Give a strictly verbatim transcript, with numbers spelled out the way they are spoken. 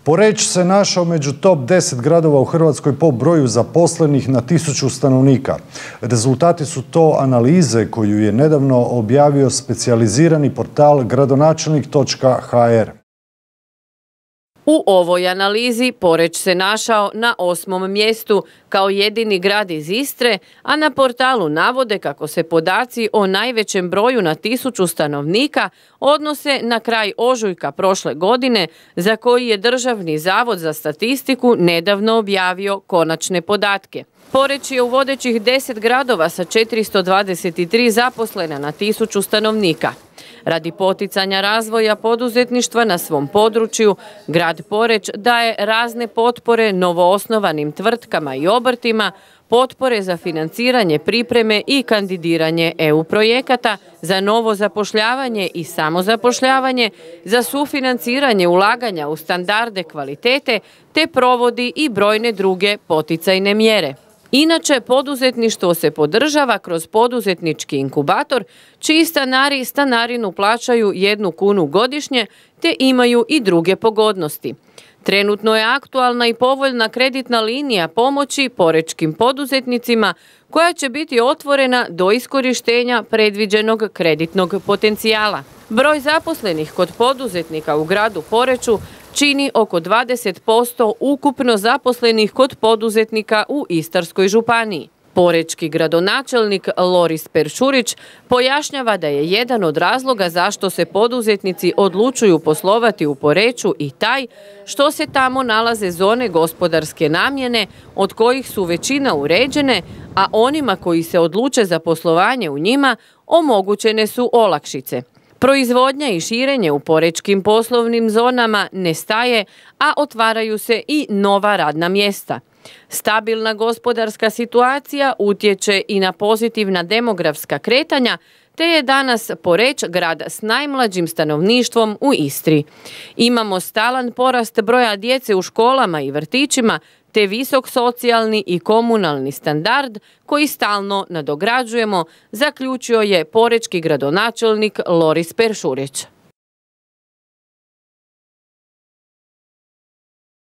Poreč se našao među top deset gradova u Hrvatskoj po broju zaposlenih na tisuću stanovnika. Rezultati su to analize koju je nedavno objavio specijalizirani portal gradonačelnik točka ha er. U ovoj analizi Poreč se našao na osmom mjestu kao jedini grad iz Istre, a na portalu navode kako se podaci o najvećem broju na tisuću stanovnika odnose na kraj ožujka prošle godine, za koji je Državni zavod za statistiku nedavno objavio konačne podatke. Poreč je u vodećih deset gradova sa četiristo dvadeset tri zaposlena na tisuću stanovnika. Radi poticanja razvoja poduzetništva na svom području, grad Poreč daje razne potpore novoosnovanim tvrtkama i obrtima, potpore za financiranje pripreme i kandidiranje e u projekata, za novo zapošljavanje i samozapošljavanje, za sufinanciranje ulaganja u standarde kvalitete, te provodi i brojne druge poticajne mjere. Inače, poduzetništvo se podržava kroz poduzetnički inkubator, čiji stanari stanarinu plaćaju jednu kunu godišnje, te imaju i druge pogodnosti. Trenutno je aktualna i povoljna kreditna linija pomoći porečkim poduzetnicima, koja će biti otvorena do iskorištenja predviđenog kreditnog potencijala. Broj zaposlenih kod poduzetnika u gradu Poreču čini oko dvadeset posto ukupno zaposlenih kod poduzetnika u Istarskoj županiji. Porečki gradonačelnik Loris Peršurić pojašnjava da je jedan od razloga zašto se poduzetnici odlučuju poslovati u Poreču i taj što se tamo nalaze zone gospodarske namjene, od kojih su većina uređene, a onima koji se odluče za poslovanje u njima omogućene su olakšice. Proizvodnja i širenje u porečkim poslovnim zonama ne staje, a otvaraju se i nova radna mjesta. Stabilna gospodarska situacija utječe i na pozitivna demografska kretanja, te je danas Poreč grad s najmlađim stanovništvom u Istri. Imamo stalan porast broja djece u školama i vrtićima, te visok socijalni i komunalni standard koji stalno nadograđujemo, zaključio je porečki gradonačelnik Loris Peršurić.